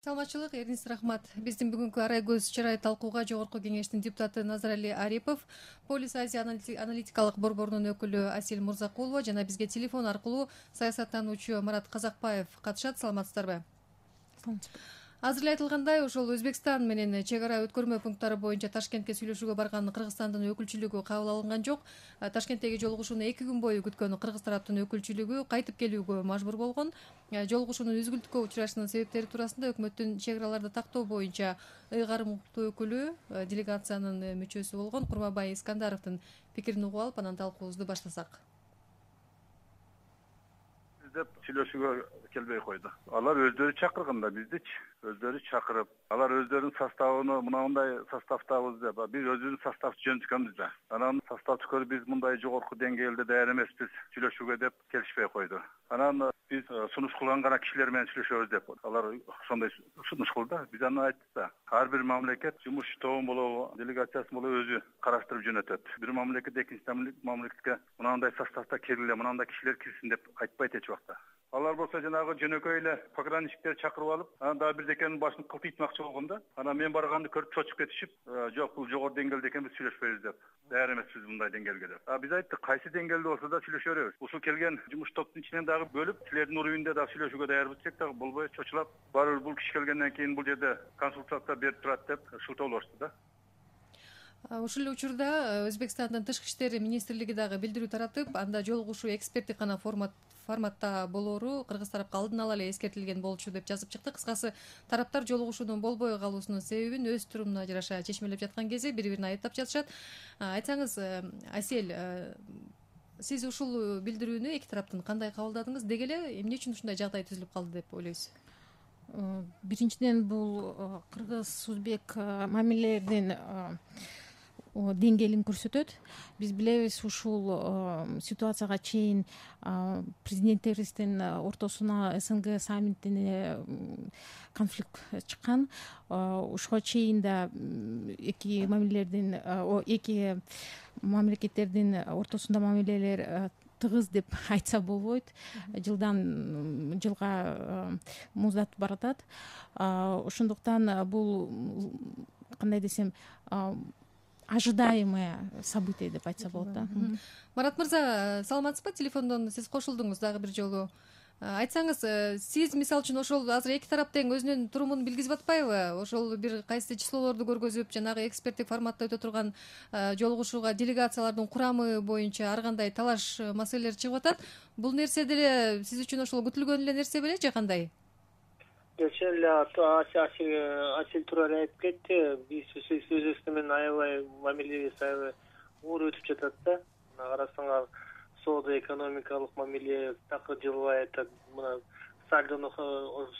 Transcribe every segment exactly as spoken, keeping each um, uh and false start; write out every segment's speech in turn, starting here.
Саламатчылык, Эрнис рахмат. Биздин бүгүнкү арай көз чырай талкууга Жогорку кеңештин депутаты Назарали Арипов, Полис Азия аналитикалык борборунун өкүлү Асель Мурзакулова жана бизге телефон аркылуу саясаттануучу Марат Казакбаев катышат. Саламатсыздарбы? Азыр эле айтылгандай, ошол Өзбекстан менен чек ара өткөрмө пункттары боюнча Ташкентке сүйлөшүүгө барган Кыргызстандын өкүлчүлүгү кабыл алынган жок. Ташкенттеги жолугушууну эки күн бою күткөн Кыргыз тараптын өкүлчүлүгү кайтып келүүгө мажбур болгон. Жолугушуунун үзгүлтүккө учурашынын себептери туурасында өкмөттүн чек араларды тактоо боюнча ыйгарым укуктуу өкүлү, делегациянын мүчөсү болгон Курманбай Искандаровдун пикирин угуп алып, анан талкуубузду баштасак. Деп сүйлөшүүгө келбей койду. Алар өздөрү чакырган да биздичи, өздөрү чакырып, алар өздөрүнүн составын мындай составдабыз деп, биз өзүбүздүн составды жөнөткөнбүз да. Анан составды көрүп биз мындай жогорку деңгээлде даяр эмеспиз сүйлөшүүгө деп келишпей койду. Анан биз сунуш кылган гана кишилер менен сүйлөшөбүз деп. Алар ошондой сунуш кылды. Биз аны айттык да. Ар бир мамлекет жумуш тобун болобу, делегациясын болобу өзү караштырып жөнөтөт. Бир мамлекет экинчи мамлекетке мынандай составда киргиле, мынандай кишилер кирсин деп айтпайт эч убакта. Алар болсо жанагы жөнөкөй эле пограничниктер чакырып алып, анан дагы бирдекенин башын кылтыйтмакчы болгон да. Анан мен барганды көрүп чочуп кетишип, жок бул жогору деңгээлде экен, биз сүйлөшпөйбүз деп. Даяр эмеспиз мындай деңгээлге деп. А биз айттык, кайсы деңгээлде болсо да сүйлөшө беребиз. Ушул келген жумуш топтун ичинен дагы бөлүп, силердин уровеньде дагы сүйлөшүүгө даярбыз десек дагы болбой чочулап, барыбыр бул киши келгенден кийин бул жерде консультация берип турат деп шылтоолошду да. Ушул эле учурда Өзбекстандын тышкы иштер министрлиги дагы билдирүү таратып, анда жолугушуу эксперттик гана формат форматта болоору Кыргыз тарапка алдын ала эле эскертилген болчу деп жазып чыкты. Кыскасы, тараптар жолугушуунун болбой калуусунун себебин өз турумуна жараша чечмелеп жаткан кезде бири-бирин айыптап жатышат. Айтсаңыз, Асель, сиз ушул билдирүүнү эки тараптын кандай кабылдадыңыз? Деги эле эмне үчүн ушундай жагдай түзүлүп калды деп ойлойсуз? Биринчиден, бул кыргыз-өзбек мамилелердин деңгээлин көрсөтөт. Биз билебиз, ушул ситуацияга чейин президенттерибиздин ортосуна СНГ саммитине конфликт чыккан. Ушуга чейин да эки мамилелердин, эки мамлекеттердин ортосунда мамилелер тыгыз деп айтса болбойт. Жылдан жылга муздатып баратат. Ошондуктан бул, кандай десем, ожидаемое событие деп айтса болот да. Марат мырза, саламатсызбы? Телефондон сиз кошулдуңуз дагы бир жолу. Айтсаңыз, сиз мисалы үчүн ошол азыр эки тарап тең өзүнүн турумун билгизип атпайбы? Ошол бир кайсы числолорду көргөзүп, жанагы эксперттик форматта өтө турган жолугушууга делегациялардын курамы боюнча ар кандай талаш маселелер чыгып атат. Бул нерсе деле сиз үчүн ошол күтүлгөн эле нерсе беле же кандай? Чын эле Асель туура эле айтып кетти. Биз Өзбекстан менен аябай мамилебиз аябай оор өтүп жатат да. Карасаңар, соода экономикалык мамиле такыр жылбай атат. Мына сальдону,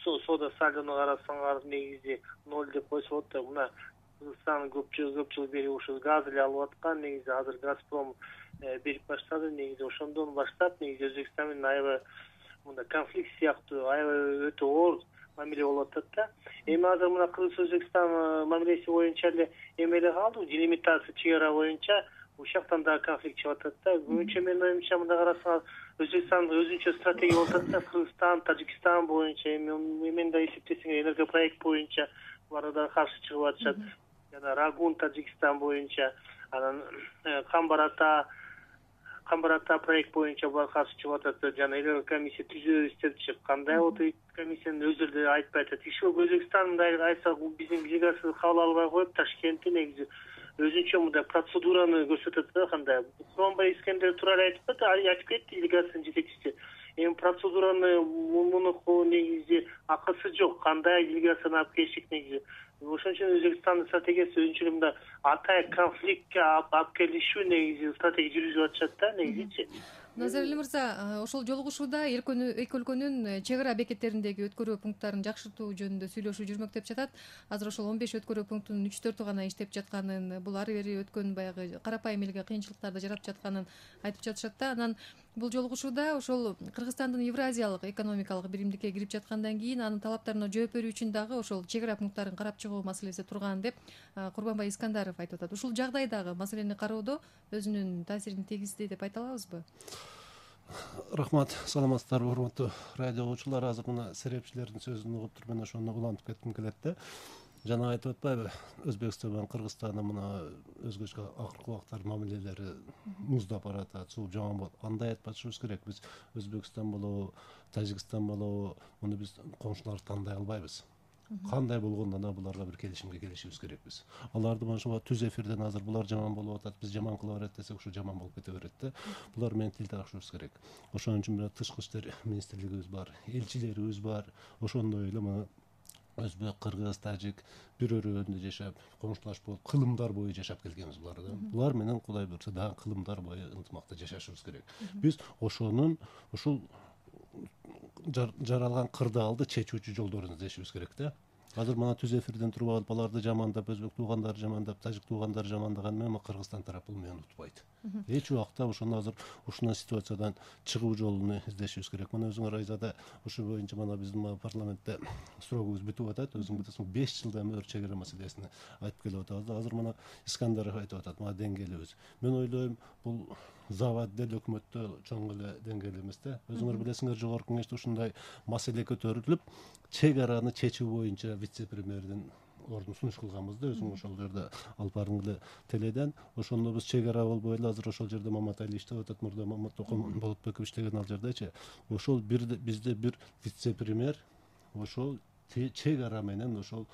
соода сальдону карасаңар негизи ноль деп койсо болот да. Мына Кыргызстан көп жыл бери ушул газ эле алып аткан. Негизи азыр Газпром берип баштады. Негизи ошондон баштап негизи Өзбекстан менен аябай мында конфликт сыяктуу аябай өтө оор мамиле болуп атат да. Эми азыр мына Кыргыз-Өзбекстан мамилеси боюнча эле эме эле калды, делимитация чек ара боюнча ушул жактан дагы конфликт чыгып атат да. Көбүнчө менин оюмча мында карасаңар, Өзбекстан өзүнчө стратегия болуп атат да. Кыргызстан, Тажикстан боюнча эми эмен да эсептесең, энергопроект боюнча булар да каршы чыгып атышат. Жана Рагун, Тажикстан боюнча, анан Камбарата Камбарата проект боюнча булар каршы чыгып атат. Жана эле комиссия түзөбүз депчи. Кандай болот комиссиянын өзүлөрү да айтпай атат. Иши Өзбекстан мындай айса, биздин делегация кабыл албай коюп, Ташкентте негизи өзүнчө мындай процедураны көрсөтөт да. Кандай Курманбай Искандер туура эле айтып кетти, айтып кетти делегациянын жетекчиси. Эми процедураны мунуку негизи акысы жок. Кандай делегацияны алып келишик негизи. Ошон үчүн Өзбекстандын стратегиясы өзүнчө мындай атай конфликтке алып келишүү негизи стратегия жүргүзүп атышат да негизичи. Назарали мырза, ошол жолугушууда эки өлкөнүн чек ара бекеттериндеги өткөрүү пункттарын жакшыртуу жөнүндө сүйлөшүү жүрмөктөп жатат. Азыр ошол он беш өткөрүү пунктунун үч төртү гана иштеп жатканын, бул ары бери өткөн баягы карапайым элге кыйынчылыктарды жаратып жатканын айтып жатышат да. Анан бул жолугушууда ошол Кыргызстандын Евразиялык экономикалык биримдикке кирип жаткандан кийин анын талаптарына жооп берүү үчүн дагы ошол чек ара пункттарын карап чыгуу маселеси турган деп Курманбай Искандаров айтып атат. Ушул жагдайдагы маселени кароодо өзүнүн таасирин тийгизди деп айта алабызбы? Рахмат, саламатсыздарбы, урматтуу радио угуучулар. Азыр мына серепчилердин сөзүн угуп туруп мен ошону улантып кетким келет да. Жана айтып атпайбы, Өзбекстан менен Кыргызстандын мына өзгөчө акыркы убактар мамилелери муздап баратат, сууп жаман болот. Андай айтпашыбыз керек. Биз Өзбекстан болобу, Тажикстан болобу, муну биз коңшуларды тандай албайбыз. Кандай болгондо да буларга бир келишимге келишибиз керекпиз. Аларды mana shu түз эфирден азыр булар жаман болуп атат, биз жаман кыла берет десек, ушу жаман болуп кете берет да. Булар менен тил табышыбыз керек. Ошон үчүн бир тышкы иштер министрлигибиз бар, элчилерибиз бар. Ошондой эле мына өзбек, кыргыз, тажик бир өрөөндө жашап, коңшулашып болуп, кылымдар бою жашап келгенбиз булар да. Булар менен Кудай буйрса дагы кылымдар бою ынтымакта жашашыбыз керек. Биз ошонун ушул жаралган кырдаалды чечүүчү жолдорун издешибиз керек да. Азыр мына түз эфирден туруп алып, аларды жамандап, өзбек туугандары жамандап, тажик туугандары жамандаган менен Кыргызстан тарапы мени унутпайт. Эч убакта ошону азыр ушундай ситуациядан чыгуу жолун издешибиз керек. Мына өзүңөр Айзада ушу боюнча мына биздин парламентте срогубуз бүтүп атат. Өзүң билесиң, беш жылдан бери чек ара маселесин айтып келип атабыз. Азыр мына Искандаров айтып атат, мына деңгээлибиз. Мен ойлойм, бул завод дел өкмөттө чоң эле деңгээл эмес да. Өзүңөр билесиңер, жогорку кеңеште ушундай маселе көтөрүлүп, чек араны чечүү боюнча вице-премьердин ордун сунуш кылганбыз да, өзүң ошол жерде алып бардың эле теледен. Ошондо биз чек ара болбой эле азыр ошол жерде Маматали иштеп атат, мурда Мамат Токон Болотбеков иштеген ал жердечи. Ошол бир бизде бир вице-премьер ошол чек ара менен ошол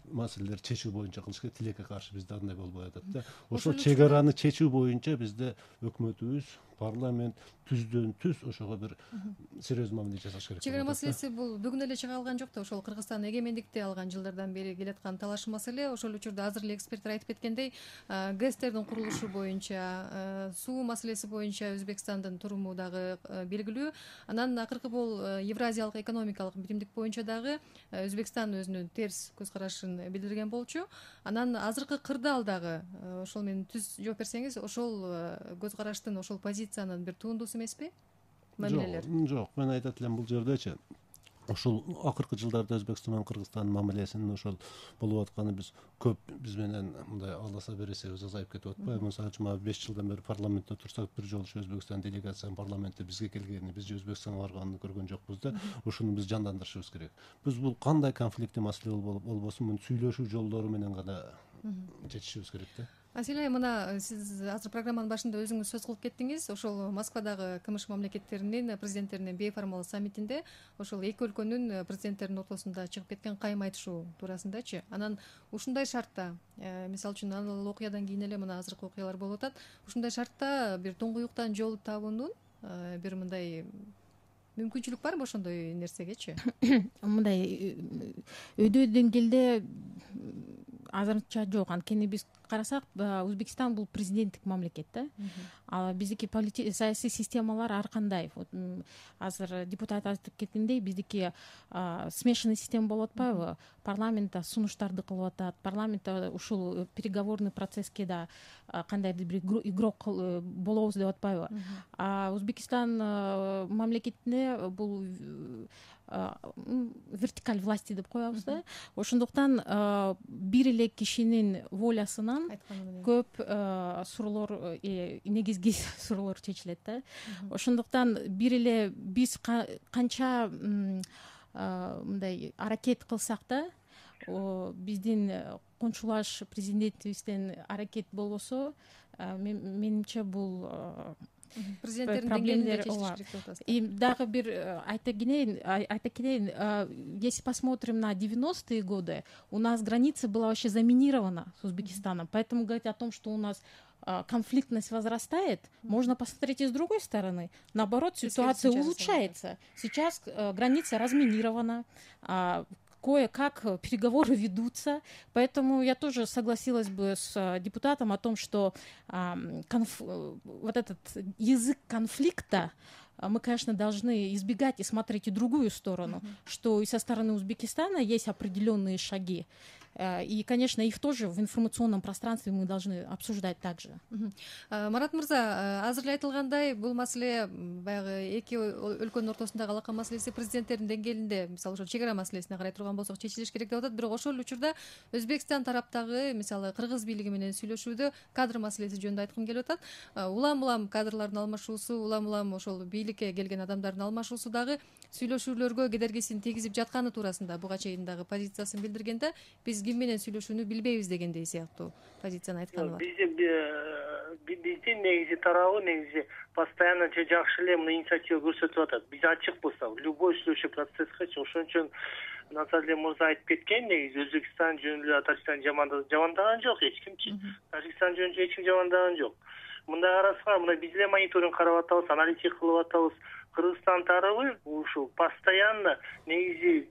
маселелер чечүү боюнча кылыш керек. Тилекке каршы бизде андай болбой атат да. Ошол чек араны чечүү боюнча бизде өкмөтүбүз, парламент түздөн түз ошого бир серьездүү мамиле жасаш керек. Чек ара маселеси бул бүгүн эле чыга алган жок да, ошол Кыргызстан эгемендикти алган жылдардан бери келаткан талаш маселе. Ошол учурда азыр эле эксперттер айтып кеткендей, ГЭСтердин курулушу боюнча, суу маселеси боюнча Өзбекстандын туруму дагы белгилүү. Анан акыркы бул Евразиялык экономикалык биримдик боюнча дагы Өзбекстан өзүнүн терс көз карашын билдирген болчу. Анан азыркы кырдаал дагы ошол менен түз жооп берсеңиз, ошол көз караштын, ошол позициянын бир туындусу эмеспи? Мамилелер. Жок, мен айтат элем бул жердечи. Ошол акыркы жылдарда Өзбекстан менен Кыргызстандын мамилесинин ошол болуп атканы биз көп биз менен мындай аласа бересебиз азайып кетип атпайбы? Мисалы үчүн беш жылдан бери парламентте турсак, бир жолу Өзбекстан делегациясынын парламентте бизге келгени, биз Өзбекстанга барганын көргөн жокпуз да. Ошону биз жандандырышыбыз керек. Биз бул кандай конфликти маселе болбосун, муну сүйлөшүү жолдору менен гана чечишибиз керек да. Асель айым, мына сиз азыр программанын башында өзүңүз сөз кылып кеттиңиз. Ошол Москвадагы КМШ мамлекеттеринин президенттеринин бейформал саммитинде ошол эки өлкөнүн президенттеринин ортосунда чыгып кеткен кайым айтышуу туурасындачы. Анан ушундай шартта, мисалы үчүн ал окуядан кийин эле мына азыркы окуялар болуп атат. Ушундай шартта бир туңгуюктан жол табуунун бир мындай мүмкүнчүлүк барбы ошондой нерсегечи? Мындай өйдө деңгээлде азырынча жок. Анткени биз карасак, Өзбекстан бул президенттик мамлекет да. А биздики саясий системалар ар кандай. Азыр депутат айтып кеткендей, биздики смешанный система болуп атпайбы? Парламентте сунуштарды кылып атат, парламентте ушул переговорный процесске да кандайдыр бир игрок болобуз деп атпайбы? А Өзбекстан мамлекетинде бул вертикаль власти деп коебуз да. Ошондуктан бир эле кишинин волясынан көп суроолор, негизги суроолор чечилет да. Ошондуктан бир эле биз канча мындай аракет кылсак да, биздин кончулаш президентибизден аракет болбосо, менимче бул президенттердин деңгээлинде чечилиш керек деп атасыз. И дагы бир айта кетейин, айта кетейин, если посмотрим на девяностые годы, у нас граница была вообще заминирована с Узбекистаном, поэтому говорить о том, что у нас конфликтность возрастает, можно посмотреть и с другой стороны. Наоборот, ситуация улучшается. Сейчас граница разминирована, кое-как переговоры ведутся, поэтому я тоже согласилась бы с депутатом о том, что конф... вот этот язык конфликта мы, конечно, должны избегать и смотреть и другую сторону, mm-hmm. что и со стороны Узбекистана есть определенные шаги, И, конечно, их тоже в информационном пространстве мы должны обсуждать также. Марат мырза, азыр эле айтылгандай, бул маселе баягы эки өлкөнүн ортосундагы алака маселеси президенттердин деңгээлинде, мисалы ошо чек ара маселесине карай турган болсок, чечилиш керек деп атат. Бирок ошол учурда Өзбекстан тараптагы, мисалы кыргыз бийлиги менен сүйлөшүүдө кадр маселеси жөнүндө айткым келип атат. Улам улам кадрлардын алмашуусу, улам улам ошол бийликке келген адамдардын алмашуусу дагы сүйлөшүүлөргө кедергисин тийгизип жатканы туурасында буга чейин дагы позициясын билдиргенде, биз ким менен сүйлөшүүнү билбейбиз дегендей сыяктуу позицияны айтканы бар. Биздин негизи тарабы негизи постоянно жакшы эле мына инициатива көрсөтүп атат. Биз ачык болсок, любой сүйлөшүү процесске, ошон үчүн Назарли мырза айтып кеткен, негизи Өзбекстан жөнүндө Тажикстан жамандаган жок эч кимчи. Тажикстан жөнүндө эч ким жамандаган жок. Мындай карасак, мына биз эле мониторинг карап атабыз, аналитика кылып атабыз. Кыргызстан тарабы ушу постоянно негизи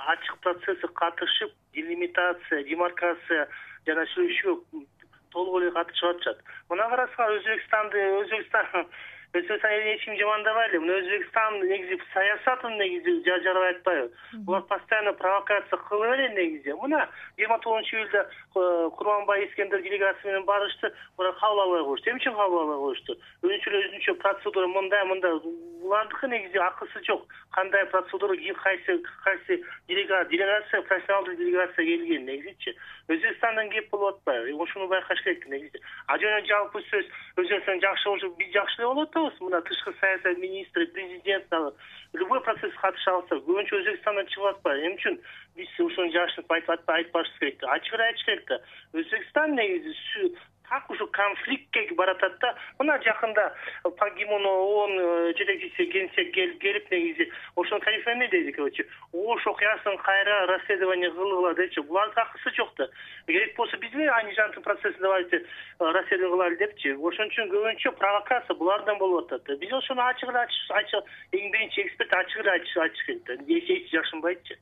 ачык процесске катышып, делимитация, демаркация жана сүйлөшүүгө толук эле катышып атышат. Мына карасак, Өзбекстанды Өзбекстан Өзбекстан элин эч ким жамандабай эле. Мына Өзбекстан негизи саясатын негизи жарабай атпайбы? Булар постоянно провокация кылып эле негизи. Мына жыйырма тогузунчу июлда Курманбай Искендер делегация менен барышты, булар кабыл албай коюшту. Эмне үчүн кабыл албай коюшту? Өзүнчө өзүнчө процедура мындай, мындай. Булардыкы негизи акысы жок. Кандай процедура, кайсы кайсы делегация, профессионалдык делегация келген негизичи. Өзбекстандан кеп болуп атпайбы? Ошону байкаш керек негизи. А жана жалпы сөз Өзбекстан жакшы болуп, биз жакшы эле болуп атабыз. Мына тышкы саясат министри, президент дагы любой процесске катыша алса, көбүнчө Өзбекстандан чыгып атпайбы. Эмне үчүн биз ошону жашынып айтып айтпашыбыз керек да. Ачык айтыш керек да. Өзбекстан негизи так ушу конфликтке баратат да. Мына жакында Пагимон ООН жетекчиси генсек келип негизи ошону тариф эмне дейт, короче, Ош окуясын кайра расследование кылгыла депчи. Булардын акысы жок да. Керек болсо биз эле Анижандын процессин давайте расследование кылайлы депчи. Ошон үчүн көбүнчө провокация булардан болуп атат. Биз ошону ачык эле ачык, эң биринчи эксперт ачык эле айтыш керек да. Эч жакшынбайтчы.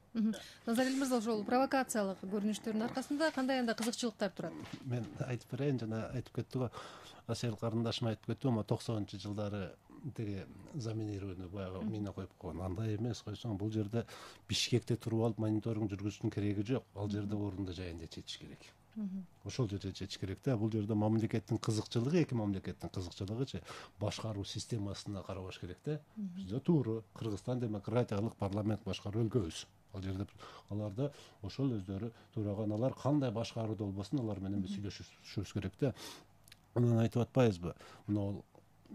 Назарил мырза, ошол провокациялык көрүнүштөрдүн аркасында кандай анда кызыкчылыктар турат? Мен айтып берейин, жана айтып кетти го, Асель карындашым айтып кетти го, токсонунчу жылдары тиги заминирование баягы мина коюп койгон. Андай эмес, койсоң бул жерде Бишкекте туруп алып мониторинг жүргүзүүнүн кереги жок. Ал жерде орунда жайында чечиш керек. Ошол жерде чечиш керек да. Бул жерде мамлекеттин кызыкчылыгы, эки мамлекеттин кызыкчылыгычы башкаруу системасына карабаш керек да. Бизде туура Кыргызстан демократиялык парламент башкаруу өлкөбүз. Ал жерде аларда ошол өздөрү тураган, алар кандай башкарууда болбосун, алар менен биз сүйлөшүшүбүз керек да. Анан айтып атпайбызбы? Мына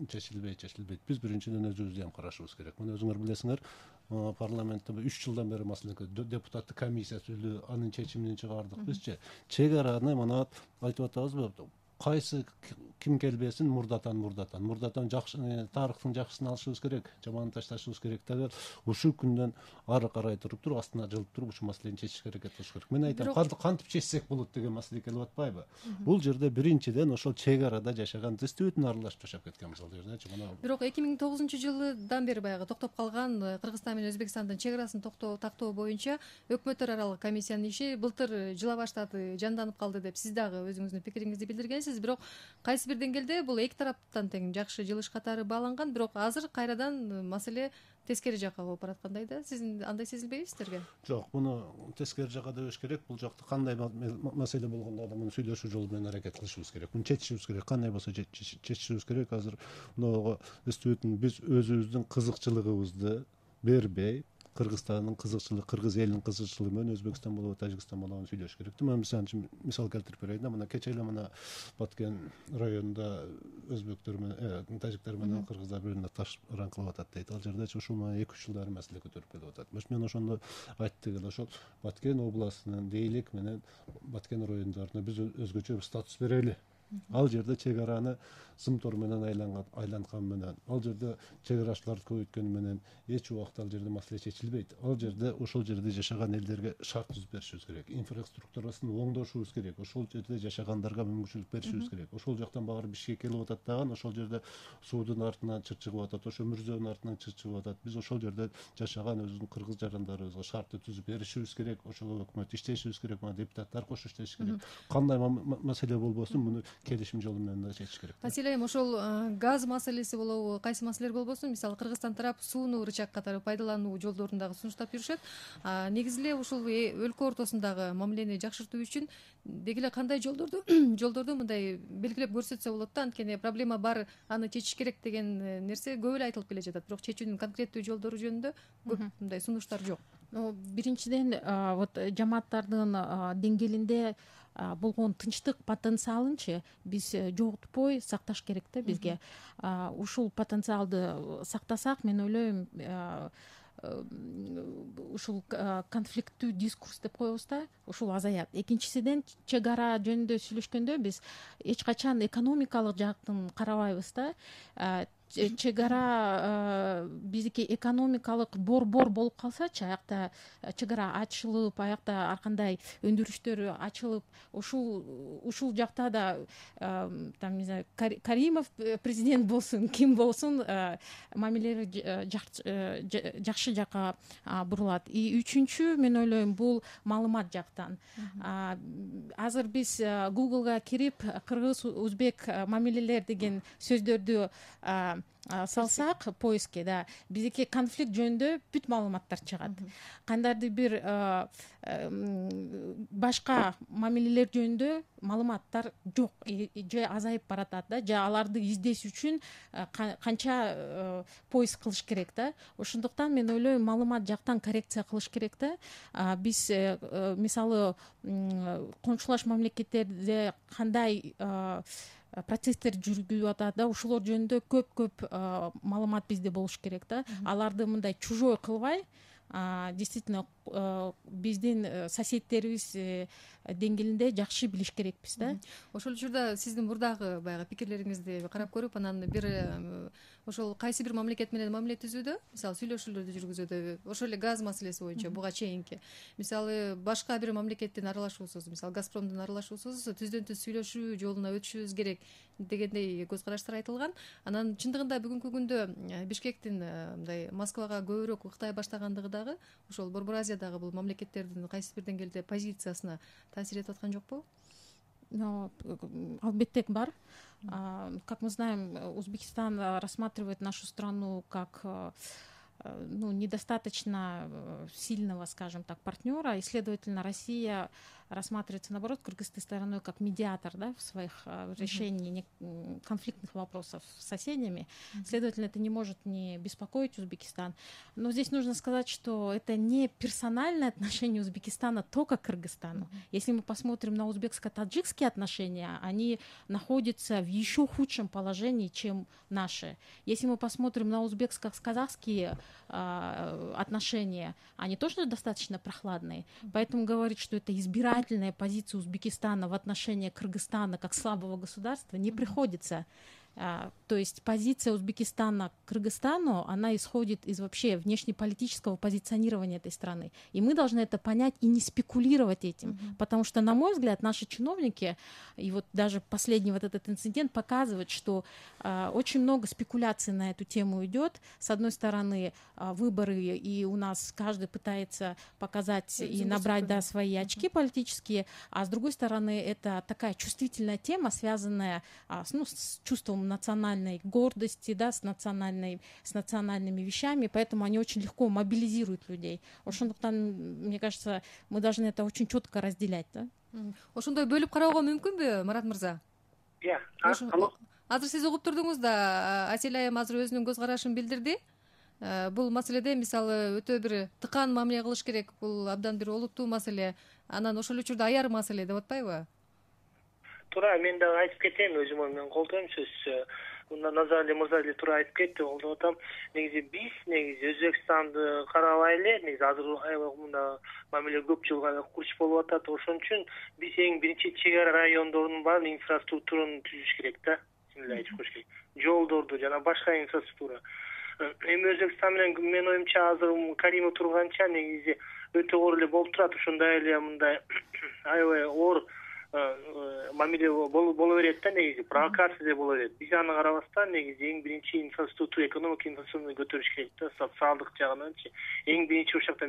чечилбей чечилбейт. Биз биринчиден өзүбүздү ham карашыбыз керек. Мына өзүңөр билесиңер, парламентте үч жылдан бери маселе депутаттык комиссия сүйлөө, анын чечимин чыгардык бизчи. Чек араны мына айтып атабызбы? Кайсы ким келбесин мурдатан мурдатан мурдатан жакшы тарыхтын жакшысын алышыбыз керек, жаманын ташташыбыз керек дагы. Ушул күндөн ары карай туруп туруп астына жылып туруп ушул маселени чечиш аракет кылыш керек. Мен айтам, кантип чечсек болот деген маселе келип атпайбы? Бул жерде биринчиден ошол чек арада жашаган дистибютун аралашып жашап кеткен мисалы жердечи. Бирок эки миң тогузунчу жылдан бери баягы токтоп калган Кыргызстан менен Өзбекстандын чек арасын тактоо боюнча өкмөттөр аралык комиссиянын иши былтыр жыла баштады, жанданып калды деп сиз дагы өзүңүздүн пикириңизди билдиргенсиз. Бирок кайсы бир деңгээлде бул эки тараптан тең жакшы жылыш катары бааланган, бирок азыр кайрадан маселе тескери жакка болуп бараткандай да. Сиз андай сезилбейби сиздерге? Жок, муну тескери жакка дебеш керек. Бул жакта кандай маселе болгондо да муну сүйлөшүү жолу менен аракет кылышыбыз керек. Муну чечишибиз керек. Кандай болсо чечишибиз керек. Азыр мынага дистибютун биз өзүбүздүн кызыкчылыгыбызды бербей, Кыргызстандын кызыкчылыгы, кыргыз элинин кызыкчылыгы менен Өзбекстан болобу, Тажикстан болобу сүйлөш керек. Мен мисалы үчүн мисал келтирип берейин да. Мына кече эле мына Баткен районунда өзбектер менен, тажиктер менен кыргыздар бирине таш ыран кылып атат дейт. Ал жерде ушул эки үч жылдары маселе көтөрүп келип атат. Мен ошондо айттык эле, ошол Баткен областынын Дейлик менен Баткен райондоруна биз өзгөчө бир статус берели. Ал жерде чек араны сымтор менен айланткан менен, ал жерде чек арачыларды көбөйткөн менен эч убакта ал жерде маселе чечилбейт. Ал жерде ошол жерде жашаган элдерге шарт түзүп беришибиз керек. Инфраструктурасын оңдошубуз керек. Ошол жерде жашагандарга мүмкүнчүлүк беришибиз керек. Ошол жактан багыр Бишкекке келип атат дагы, ошол жерде суудун артынан чыр чыгып атат, ошо мүрзөнүн артынан чыр чыгып атат. Биз ошол жерде жашаган өзүбүздүн кыргыз жарандарыбызга шартты түзүп беришибиз керек. Ошол өкмөт иштешибиз керек, мына депутаттар кошо иштеши керек. Кандай маселе болбосун, муну келишим жолу менен да чечиш керек. Асель айым, ошол газ маселеси болобу, кайсы маселелер болбосун, мисалы Кыргызстан тарап сууну рычаг катары пайдалануу жолдорун дагы сунуштап жүрүшөт. Негизи эле ушул өлкө ортосундагы мамилени жакшыртуу үчүн деги эле кандай жолдорду жолдорду мындай белгилеп көрсөтсө болот да, анткени проблема бар, аны чечиш керек деген нерсе көп эле айтылып келе жатат, бирок чечүүнүн конкреттүү жолдору жөнүндө көп мындай сунуштар жок. Биринчиден, вот жамааттардын деңгээлинде болгон тынчтык потенциалынчы биз жоготпой сакташ керек да бизге. Ушул потенциалды сактасак, мен ойлойм, ушул конфликттүү дискурс деп коебуз да, ушул азаят. Экинчисиден, чек ара жөнүндө сүйлөшкөндө биз эч качан экономикалык жактын карабайбыз да. Чек ара биздики экономикалык борбор болуп калсачы, аякта чек ара ачылып, аякта ар кандай өндүрүштөр ачылып, ушул ушул жакта да там, не знаю, Каримов президент болсун, ким болсун, мамилелери жакшы жакка бурулат. И үчүнчү, мен ойлойм, бул маалымат жактан. Азыр биз Google'га кирип кыргыз, өзбек мамилелер деген сөздөрдү салсак поиске, да, биздики конфликт жөнүндө бүт маалыматтар чыгат. Кандайдыр бир башка мамилелер жөнүндө маалыматтар жок, же азайып баратат да, же аларды издеш үчүн канча поиск кылыш керек да. Ошондуктан мен ойлойм, маалымат жактан коррекция кылыш керек да. Биз мисалы коңшулаш мамлекеттерде кандай процесстер жүргүзүп атат да, ушулор жөнүндө көп-көп маалымат бизде болуш керек да. Аларды мындай чужой кылбай, действительно биздин соседтерибиз деңгээлинде жакшы билиш керекпиз да. Ошол учурда сиздин мурдагы баягы пикирлериңизди карап көрүп, анан бир ошол кайсы бир мамлекет менен мамиле түзүүдө, мисалы сүйлөшүүлөрдү жүргүзүүдө, ошол эле газ маселеси боюнча буга чейинки, мисалы башка бир мамлекеттин аралашуусуз, мисалы Газпромдун аралашуусуз түздөн түз сүйлөшүү жолуна өтүшүбүз керек дегендей көз караштар айтылган. Анан чындыгында бүгүнкү күндө Бишкектин мындай Москвага көбүрөөк ыктай баштагандыгы дагы ошол Борбор Азиядагы бул мамлекеттердин кайсы бир деңгээлде позициясына таасир этип аткан жокпу? Албетте бар. Как мы знаем, Узбекистан рассматривает нашу страну как ну, недостаточно сильного, скажем так, партнера, и, следовательно, Россия рассматривается, наоборот, кыргызской стороной как медиатор, да, в своих uh, решении uh-huh. конфликтных вопросов с соседями. Uh-huh. Следовательно, это не может не беспокоить Узбекистан. Но здесь нужно сказать, что это не персональное отношение Узбекистана только к Кыргызстану. Uh-huh. Если мы посмотрим на узбекско-таджикские отношения, они находятся в еще худшем положении, чем наши. Если мы посмотрим на узбекско-казахские э, отношения, они тоже достаточно прохладные. Uh-huh. Поэтому говорить, что это избирательное позиция Узбекистана в отношении Кыргызстана как слабого государства не приходится. То есть позиция Узбекистана к Кыргызстану, она исходит из вообще внешнеполитического позиционирования этой страны. И мы должны это понять и не спекулировать этим. Mm-hmm. Потому что, на мой взгляд, наши чиновники, и вот даже последний вот этот инцидент показывает, что э, очень много спекуляций на эту тему идет. С одной стороны, э, выборы, и у нас каждый пытается показать mm-hmm. и набрать да, свои очки mm-hmm. политические, а с другой стороны, это такая чувствительная тема, связанная э, ну, с чувством национальной гордости, да, с национальной, с национальными вещами, поэтому они очень легко мобилизируют людей. Ошондуктан, мне кажется, мы должны это очень четко разделять, да. Ошондой бөлүп кароого мүмкүнбү, Марат мырза? Иә. Азыр сиз угуп турдуңуз да, Асель айым азыр өзүнүн көз карашын билдирди. Бул маселеде мисалы өтө бир тыкан мамиле кылыш керек, бул абдан бир олуттуу маселе. Анан ошол учурда аяр маселе деп атпайбы? Туура, мен дагы айтып кетейин, өзүм менен колдойм сөз. Мында Назарали мырза эле туура айтып кетти, колдоп атам. Негизи биз негизи Өзбекстанды карабай эле, негизи азыр аябай мында мамиле көп жылга курч болуп атат. Ошон үчүн биз эң биринчи чек ара райондордун баарын инфраструктураны түзүш керек да. Сиңиле айтып коюш керек. Жолдорду жана башка инфраструктура. Эми Өзбекстан менен мен оюмча азыр Каримов турганча негизи өтө оор эле болуп турат. Ошондой эле мындай аябай оор мамиле боло берет да, негизи провокация боло берет. Биз аны карабастан негизи эң биринчи инфраструктура, экономика инфраструктураны көтөрүш керек да, социалдык жагынанчы. Эң биринчи ушул жакта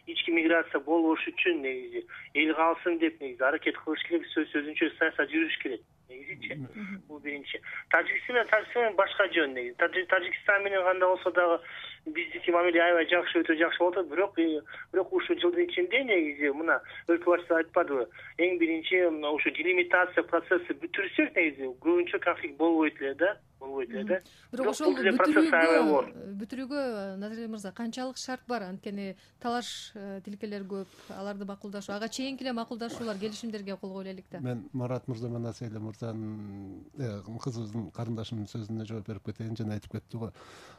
ички миграция болбош үчүн негизи эл калсын деп негизи аракет кылыш керек, сөз сөзүнчө саясат жүрүш керек. Негизичи бул биринчи. Тажикстан Тажикстан башка жөн негизи. Тажикстан менен кандай болсо дагы биздики мамиле аябай жакшы, өтө жакшы болот, бирок бирок ушул жылдын ичинде негизи мына өлкө башчысы айтпадыбы, эң биринчи ушу делимитация процесси бүтүрсөк негизи көбүнчө конфликт болбойт эле да, болбойт эле да. Бирок ошол бүтүрүүгө бүтүрүүгө Назарбек мырза канчалык шарт бар? Анткени талаш тилкелер көп, аларды макулдашуу, ага чейинки эле макулдашуулар, келишимдерге кол коелу элек да. Мен Марат мырза менен Аселя мырзанын кызыбыздын карындашымдын сөзүнө жооп берип кетейин. Жана айтып кетти го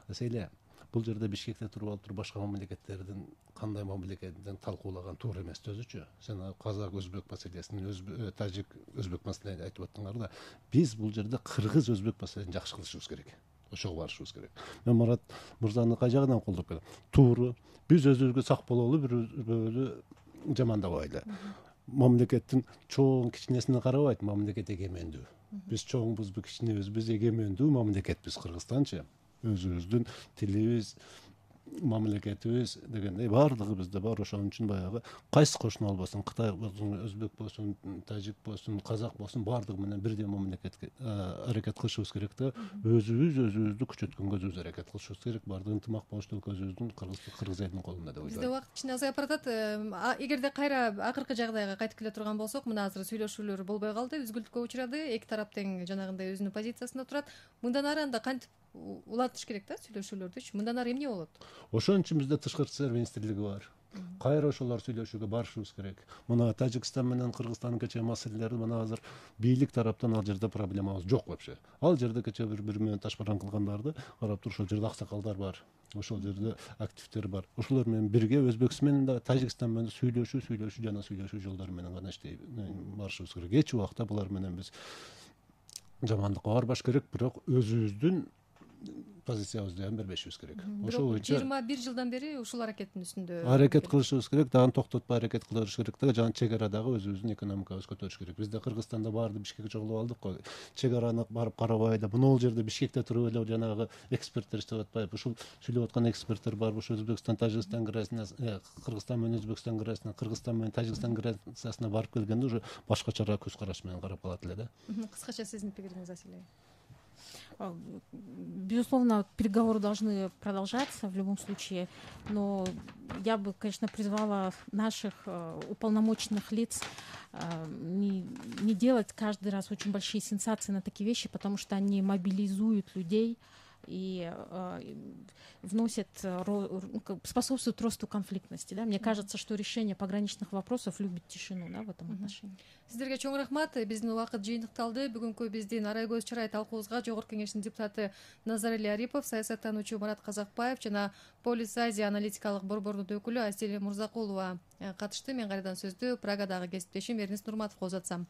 Аселя, бул жерде Бишкекте туруп алып туруп башка мамлекеттердин кандай мамлекетин талкуулаган туура эмес өзүчү. Сен казак, өзбек маселесин, тажик, өзбек маселени айтып аттыңар да. Биз бул жерде кыргыз, өзбек маселесин жакшы кылышыбыз керек. Ошого барышыбыз керек. Мен Марат мырзаны кай жагынан колдоп келем? Туура. Биз өзүбүзгө сак бололу, бирөөлү жамандабайлы. Мамлекеттин чоң кичинесине карабайт, мамлекет эгемендүү. Биз чоңбузбу, кичинебизби, биз эгемендүү мамлекетпиз Кыргызстанчы. Өзүбүздүн тилибиз, мамлекетибиз дегендей баардыгы бизде бар. Ошон үчүн баягы кайсы кошуна болбосун, Кытай болсун, өзбек болсун, тажик болсун, казак болсун, баардыгы менен бирдей мамлекетке аракет кылышыбыз керек да. Өзүбүз өзүбүздү күчөткөнгө өзүбүз аракет кылышыбыз керек. Баардыгы ынтымак болушту өзүбүздүн кыргыз элинин колунда деп ойлойм. Бизде убакыт кичине азайып баратат. Эгерде кайра акыркы жагдайга кайтып келе турган болсок, мына азыр сүйлөшүүлөр болбой калды, үзгүлтүккө учурады. Эки тарап тең жанагындай өзүнүн позициясында турат. Мындан ары анда кантип улантыш керек да сүйлөшүүлөрдүчү? Мындан ары эмне болот? Ошон үчүн бизде тышкы иштер министрлиги бар. Кайра ошолор сүйлөшүүгө барышыбыз керек. Мына Тажикстан менен Кыргызстандын кечээ маселелери мына азыр бийлик тараптан ал жерде проблемабыз жок вообще. Ал жерде кечээ бири-бири менен ташбаран кылгандарды карап туруп, ошол жерде аксакалдар бар. Ошол жерде активдер бар. Ошолор менен бирге Өзбекстан менен да Тажикстан менен сүйлөшүү, сүйлөшүү жана сүйлөшүү жолдору менен гана иштей барышыбыз керек. Эч убакта булар менен биз жамандыкка барбаш керек, бирок өзүбүздүн позициябызды ham бербешибиз керек. Ошол боюнча жыйырма бир жылдан бери ушул аракеттин үстүндө аракет кылышыбыз керек, дагы токтотпой аракет кылыш керек да, жана чек арадагы өзүбүздүн экономикабызды көтөрүш керек. Бизде Кыргызстанда баарды Бишкекке чогулуп алдык го. Чек араны барып карабай да, мына бул жерде Бишкекте туруп эле жанагы эксперттер иштеп атпайбы? Ушул сүйлөп аткан эксперттер барбы? Ошо Өзбекстан, Тажикстан границасына, Кыргызстан менен Өзбекстан границасына, Кыргызстан менен Тажикстан границасына барып келгенде уже башкачараак көз караш менен карап калат эле да. Кыскача сиздин пикириңиз, Аселя? Безусловно, переговоры должны продолжаться в любом случае, но я бы, конечно, призвала наших э, уполномоченных лиц э, не, не делать каждый раз очень большие сенсации на такие вещи, потому что они мобилизуют людей и э, вносят, ро, способствуют росту конфликтности. Да? Мне кажется, что решение пограничных вопросов любит тишину, да, в этом отношении. Сиздерге чоң рахмат. Биздин убакыт жыйынтыкталды. Бүгүнкү биздин Арай көз чырай талкуубузга Жогорку Кеңештин депутаты Назарали Арипов, саясаттануучу Марат Казакбаев жана Полис Азия аналитикалык борборунун өкүлү Аселя Мурзакулова катышты. Мен кайрадан сөздү Прагадагы кесиптешим Эрнис Нурматовго узатсам.